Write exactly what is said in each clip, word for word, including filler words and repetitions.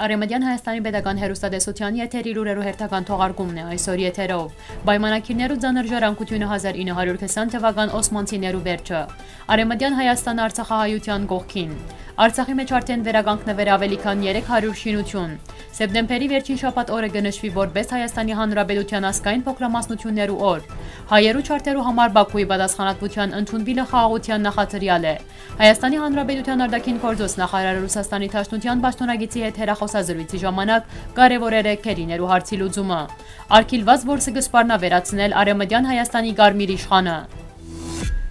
Արեմտեան Հայաստանի պետական հեռուստատեսութեան եթեր իր ուրերու հերթական թողարկումն է այսօր եթերով։ Պայմանագիրներու ծանր ժառանգությունը հազար ինը հարիւր քսան թուական օսմանցիներու վերջը։ Արեմտեան Հայաստանը Արցախահայութեան կողքին։ Արցախի մէջ արդէն վերականգնուեր աւելի քան երեք հարիւր շինութիւն։ Սեպտեմբերի վերջին շաբաթ օրը կը նշուի որպէս Հայաստանի Հանրապետութեան ազգային փոքրամասնութիւններու օր։ Հայերու չարթերու համար Բաքուի պատասխանատվութեան ընդունուիլը խաղաղութեան նախադրեալ է։ Հայաստանի Հանրապետութեան արտաքին գործոց նախարարը Ռուսաստանի Դաշնութեան պաշտօնագիտի հետ հեռախօսազրոյցի ժամանակ կարեւորեր է քերիներու հարցի լուծումը։ Արգիլուած, որ սկսպառնայ վերացնել Արեմտեան Հայաստանի Կարմիր Իշխանը։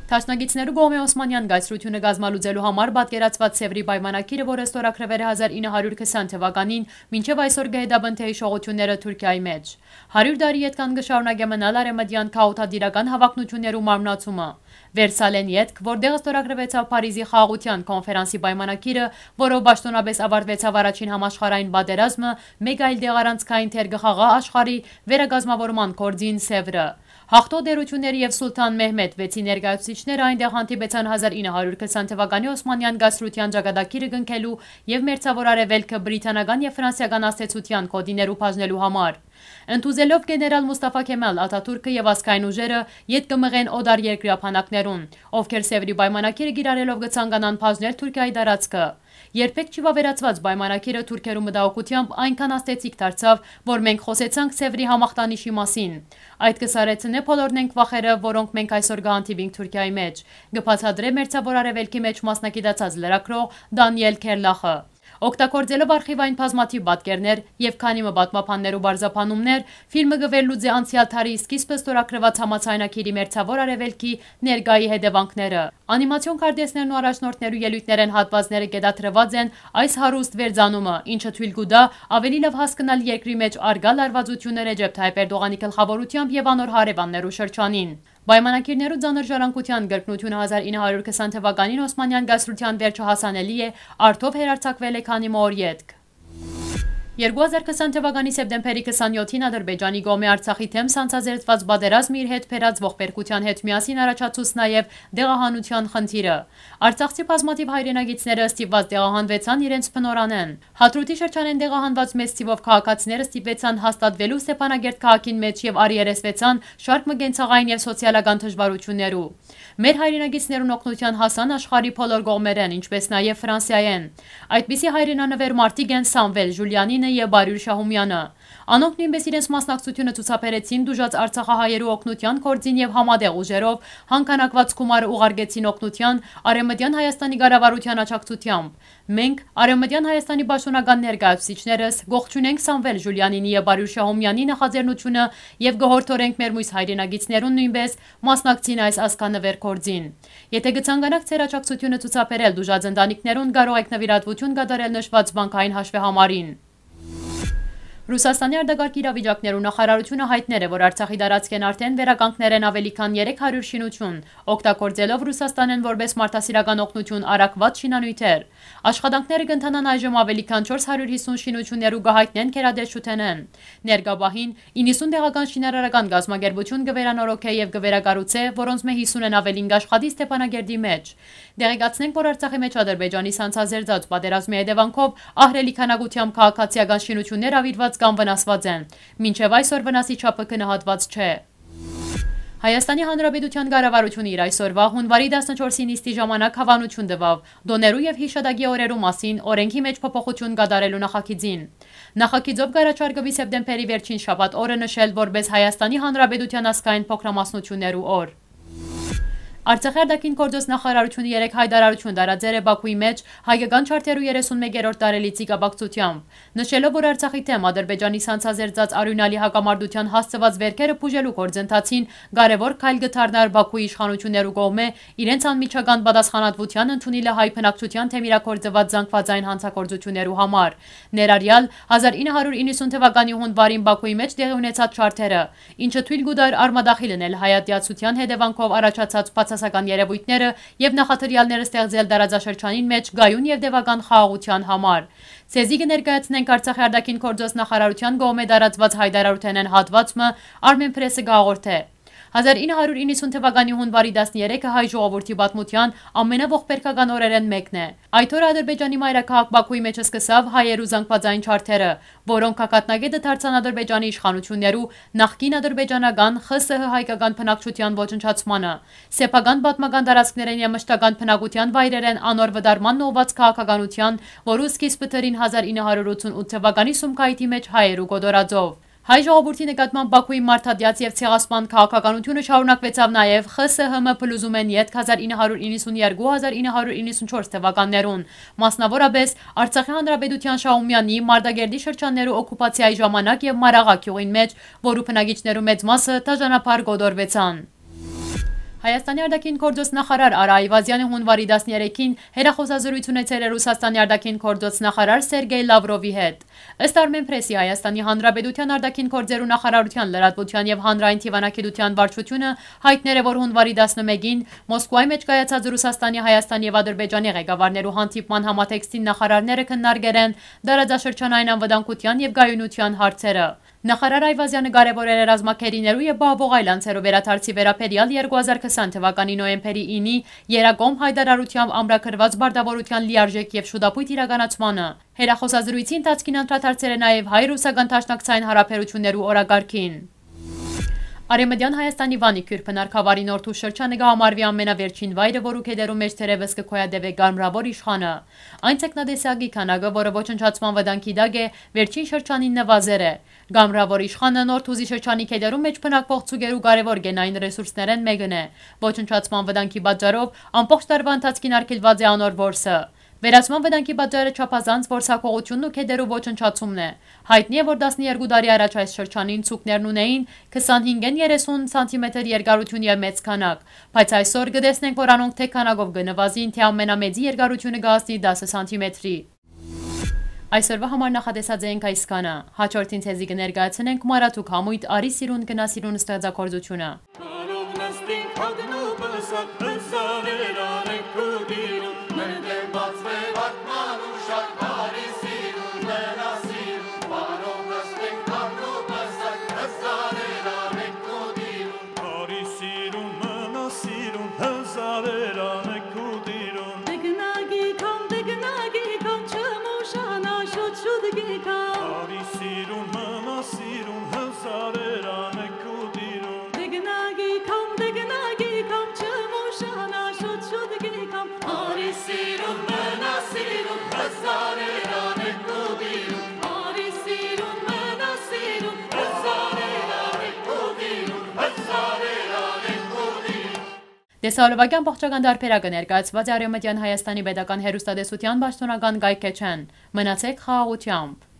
Դաշնակիցներու կողմէ Օսմանեան կայսրութիւնը կազմալուծելու համար պատկերացուած Սեւրի պայմանագիրը, որը ստորագրուեր է հազար ինը հարիւր քսան թուականին, մինչեւ այսօր կը հետապնդէ յիշողութիւնները Թուրքիայի մէջ։ Հարիւր տարի ետք ան կը շարունակէ մնալ արեմտեան քաոթատիրական հաւակնութիւններու մարմնացումը։ Վերսալէն ետք, որտեղ ստորագրուեցաւ Փարիզի խաղաղութեան քոնֆերանսի պայմանագիրը, որով պաշտօնապէս աւարտուեցաւ առաջին համաշխարհային պատերազմը, մէկ այլ դեղ առանցքային դեր կը խաղայ աշխարհի վերակազմաւորման գործին Սեւրը։ Յաղթող տէրութիւնները եւ Սուլթան Մեհմեդ վեցի ներկայացուցիչները այնտեղ հանդիպեցան հազար ինը հարիւր քսան թուականի Օսմանեան կայսրութեան ճակատագիրը կնքելու եւ Մերձաւոր Արեւելքը բրիտանական եւ ֆրանսիական ազդեցութեան գօտիներու բաժնելու համար։ Ընդուզելով գեներալ Մուսթաֆա Քեմալ Աթաթուրքը եւ ազգային ուժերը, ետ կը մղեն օտար երկրի ափանակներուն, ովքեր Սեւրի պայմանագիրը կիրառելով կը ցանկանան բաժնել Թուրքիայի տարածքը։ Երբեք չի վաւերացուած պայմանագիրը թուրքերու մտահոգութեամբ այնքան ազդեցիկ դարձաւ, որ մենք խօսեցանք Սեւրի համախտանիշի մասին։ Այդ կը սառեցնէ բոլոր նենք վախերը, որոնք մենք այսօր կը հանդիպինք Թուրքիայի մէջ, կը բացատրէ Մերձաւոր Արեւելքի մէջ մասնագիտացած լրագրող Դանիել Քերլախը։ Օգտագործելով արխիվային բազմաթիւ պատկերներ եւ քանի մը պատմաբաններու պարզաբանումներ, ֆիլմը կը վերլուծէ անցեալ դարի սկիզբը ստորագրուած համաձայնագիրի Մերձաւոր Արեւելքի ներկայի հետեւանքները։ Անիմացիոն քարտէսներն ու առաջնորդներու ելոյթներէն հատուածները կետադրուած են այս հարուստ վերծանումը, ինչը թոյլ կու տայ աւելի լաւ հասկնալ երկրի մէջ առկայ լարուածութիւնը Ռեջեփ Թայիփ Էրտողանի գլխաւորութեամբ եւ անոր հարեւաններու շրջանին։ Պայմանագիրներու ծանր ժառանգութեան կրկնութիւնը հազար ինը հարիւր քսան թուականին Օսմանեան կայսրութեան վերջը հասանելի է, արդով հեռարձակուել է քանի մը օր ետք։ Երկու հազար քսան թուականի սեպտեմբերի քսանեօթին Ադրբեջանի կողմէ Արցախի դէմ սանձազերծուած պատերազմը իր հետ բերած ողբերգութեան հետ միասին առաջացուց նաեւ տեղահանութեան խնդիրը։ Արցախցի բազմաթիւ հայրենակիցները ստիպուած տեղահանուեցան իրենց բնօրրանէն։ Հադրութի շրջանէն տեղահանուած մեծ թիւով քաղաքացիները ստիպուեցան հաստատուելու Ստեփանագերդ քաղաքին մէջ եւ առերեսուեցան շարք մը կենցաղային եւ սոցիալական դժուարութիւններու։ Մեր հայրենակիցներուն օգնութեան հասան աշխարհի բոլոր կողմերէն, ինչպէս նաեւ Ֆրանսիայէն։ Այդպիսի հայրենանուէր մարդիկ են Սամվել Ժուլիանինը եւ Բարիւր Շահումեանը։ Անոնք նոյնպէս իրենց մասնակցութիւնը ցուցաբերեցին տուժած արցախահայերու օգնութեան գործին եւ համատեղ ուժերով հանգանակուած գումարը ուղարկեցին օգնութեան Արեւմտեան Հայաստանի կառավարութեան աջակցութեամբ։ Մենք, Արեւմտեան Հայաստանի պաշտօնական ներկայացուցիչներս, կողջունենք Սամվել Ժուլիանինի եւ Բարիւր Շահումեանի նախաձեռնութիւնը եւ կը յորդորենք մեր միւս հայրենակիցներուն նոյնպէս մասնակցին այս ազգանուէր գործին։ Եթէ կը ցանկանաք ձեր աջակցութիւնը ցուցաբերել տուժած ընտանիքներուն, կարող էք նուիրատուութիւն կատարել նշուած բանկային հաշուեհամարին։ Ռուսաստանի արտակարգ իրավիճակներու նախարարութիւնը յայտնել է, որ Արցախի տարածքէն արդէն վերականգնել են աւելի քան երեք հարիւր շինութիւն, օգտագործելով Ռուսաստանէն որպէս մարդասիրական օգնութիւն առաքուած շինանիւթեր։ Աշխատանքները կ'ընթանան այժմ աւելի քան չորս հարիւր յիսուն շինութիւններ ու կը յայտնեն գերատեսչութենէն։ Ներկայ պահին իննսուն տեղական շինարարական կազմակերպութիւն կը վերանորոգէ եւ կը վերակառուցէ, որոնցմէ յիսունէն աւելին կ'աշխատի Ստեփանագերդի մէջ։ Տեղեկացնենք, որ Արցախի մէջ Ադրբեջանի սանձազերծած պատերազմի հետեւանքով ահռելի քանակութեամբ քաղաքացիական շինութիւններ աւիրուած կամ վնասուած են։ Մինչեւ այսօր վնասի չափը գնահատուած չէ։ Հայաստանի Հանրապետութեան կառավարութիւնը իր այսօրուայ, յունուարի տասնչորսի նիստի ժամանակ, հաւանութիւն տուաւ տօներու եւ յիշատակի օրերու մասին օրէնքի մէջ փոփոխութիւն կատարելու նախագիծին։ Նախագիծով կ'առաջարկուի սեպտեմբերի վերջին շաբաթ օրը նշել որպէս Հայաստանի Հանրապետութեան ազգային փոքրամասնութիւններու օր։ Արցախի արտաքին գործոց նախարարութիւնը երեկ յայտարարութիւն տարածեր է Բաքուի մէջ հայկական չարթերու երեսունմեկերորդ տարելիցի կապակցութեամբ, նշելով, որ Արցախի դէմ Ադրբեջանի սանձազերծած արիւնալի հակամարտութեան հասցուած վէրքերը բուժելու գործընթացին կարեւոր քայլ կը դառնար Բաքուի իշխանութիւններու կողմէ իրենց անմիջական պատասխանատվութեան ընդունիլը հայ բնակչութեան դէմ իրագործուած զանգվածային հանցագործութիւններու համար, ներառյալ հազար ինը հարիւր իննսուն թուականի յունուարին Բաքուի մէջ տեղի ունեցած չարթերը, ինչը թոյլ կու տար արմատախիլ ընել հայատյացութեան հետեւանքով առաջացած բացասական երեւոյթները եւ նախադրեալներ ստեղծել տարածաշրջանին մէջ կայուն եւ տեւական խաղաղութեան համար։ Ձեզի կը ներկայացնենք Արցախի արտաքին գործոց նախարարութեան կողմէ տարածուած յայտարարութենէն հատուած մը, Արմեն Պրեսը կը հաղորդէ։ Հազար ինը հարիւր իննսուն թուականի յունուարի տասներեքը հայ ժողովուրդի պատմութեան ամենաողբերգական օրերէն մէկն է։ Այդ օրը Ադրբեջանի մայրաքաղաք Բաքուի մէջ սկսաւ հայերու զանգուածային չարդերը, որոնք գագաթնակէտը դարձան Ադրբեջանի իշխանութիւններու, նախկին ադրբեջանական Խ Ս Հ հայկական բնակչութեան ոչնչացմանը, սեփական պատմական տարածքներէն եւ մշտական բնակութեան վայրերէն անոր վտարմանն ուղղուած քաղաքականութեան, որու սկիզբը դրին հազար ինը հարիւր ութսուն ութ թուականի Սումգայիթի մէջ հայերու կոտորածով։ Հայ ժողովուրդի նկատմամբ Բաքուի մարդատեաց եւ ցեղասպան քաղաքականութիւնը շարունակուեցաւ նաեւ Խ Ս Հ Մ փլուզումէն ետք հազար ինը հարիւր իննսուն երկու, հազար ինը հարիւր իննսուն չորս թուականներուն, մասնաւորապէս Արցախի Հանրապետութեան Շահումեանի, Մարտակերտի շրջաններու օկուպացիայի ժամանակ եւ Մարաղա գիւղին մէջ, որու բնակիչներու մեծ մասը դաժանաբար կոտորուեցան։ Հայաստանի արտաքին գործոց նախարար Արա Այվազյանը յունուարի տասներեքին հեռախօսազրոյց ունեցել է Ռուսաստանի արտաքին գործոց նախարար Սերգեյ Լավրովի հետ։ Ըստ Արմեն Պրեսի, Հայաստանի Հանրապետութեան արտաքին գործերու նախարարութեան լրատվութեան եւ հանրային դիվանագիտութեան վարչութիւնը յայտներ է, որ յունուարի տասնմէկին Մոսկուայի մէջ կայացած Ռուսաստանի, Հայաստանի եւ Ադրբեջանի ղեկավարներու հանդիպման համատեքստին նախարարները քննարկեր են տարածաշրջանային անվտանգութեան եւ կայունութեան հարցերը։ Նախարար Այվազյանը կարեւորել է ռազմագերիներու եւ պահուող այլ անձերու վերադարձի վերաբերեալ երկու հազար քսան թուականի նոյեմբերի ինի Երակոմ յայտարարութեամբ ամրագրուած պարտաւորութեան լիարժէք եւ շուտապոյտ իրականացմանը։ Հեռախօսազրոյցի ընթացքին անդրադարձել է նաեւ հայ-ռուսական դաշնակցային յարաբերութիւններու օրակարգին։ Արեւմտեան Հայաստանի Վանի Քիւրփնար գաւառի Նորթուս շրջանը կը համարուի ամենավերջին վայրը, որու գետերու մէջ թերեւս կը գոյատեւէ կարմրաւոր իշխանը։ Այն ձկնատեսակի քանակը, որը ոչնչացման վտանգի տակ է, վերջին շրջանին նուազեր է։ Կարմրաւոր իշխանը Նորթուզի շրջանի գետերու մէջ բնակվող ձուկերու կարեւոր գենային ռեսուրսներէն մէկն է։ Ոչնչացման վտանգի պատճառով ամբողջ տարուայ ընթացքին արգելուած է անոր որսը։ Վերացման վտանգի պատճառը չափազանց որսակողութիւնն ու գետերու ոչնչացումն է։ Յայտնի է, որ տասներկու տարի առաջ այս շրջանին ձուկներն ունէին քսանհինգէն երեսուն սանտիմետր երկարութիւն եւ մեծ քանակ, բայց այսօր կը տեսնենք, որ անոնք թէ քանակով կը նուազին, թէ ամենամեծի երկարութիւնը կը հասնի տասը սանտիմետրի։ Այսօրուայ համար նախատեսած էինք այսքանը։ Յաջորդին ձեզի կը ներկայացնենք Մարաթուք համոյթ «Արի սիրուն, գնա սիրուն» ստեղծագործութիւնը։ Արի սիրուն, մնա սիրուն, հազարեր անեք քու տիրուն։ Տեգնագի կամ, տեգնագի կամ, չմուշանա, շուտ-շուտ գի կամ։ Արի սիրուն, մնա սիրուն, հազարեր անեք քու տիրուն։ Տեգնագի կամ, տեգնագի կամ, չմուշանա, շուտ-շուտ գի կամ։ Արի սիրուն, մնա սիրուն, հազարեր անեք քու տիրուն։ Արի սիրուն, մնա սիրուն, հազարեր անեք քու տիրուն, հազարեր անեք քու տիրուն։ Տեսահոլովակի ամբողջական տարբերակը ներկայացուած է Արեւմտեան Հայաստանի Պետական Հեռուստատեսութեան պաշտօնական կայքէջէն։ Մնացեք խաղաղութեամբ։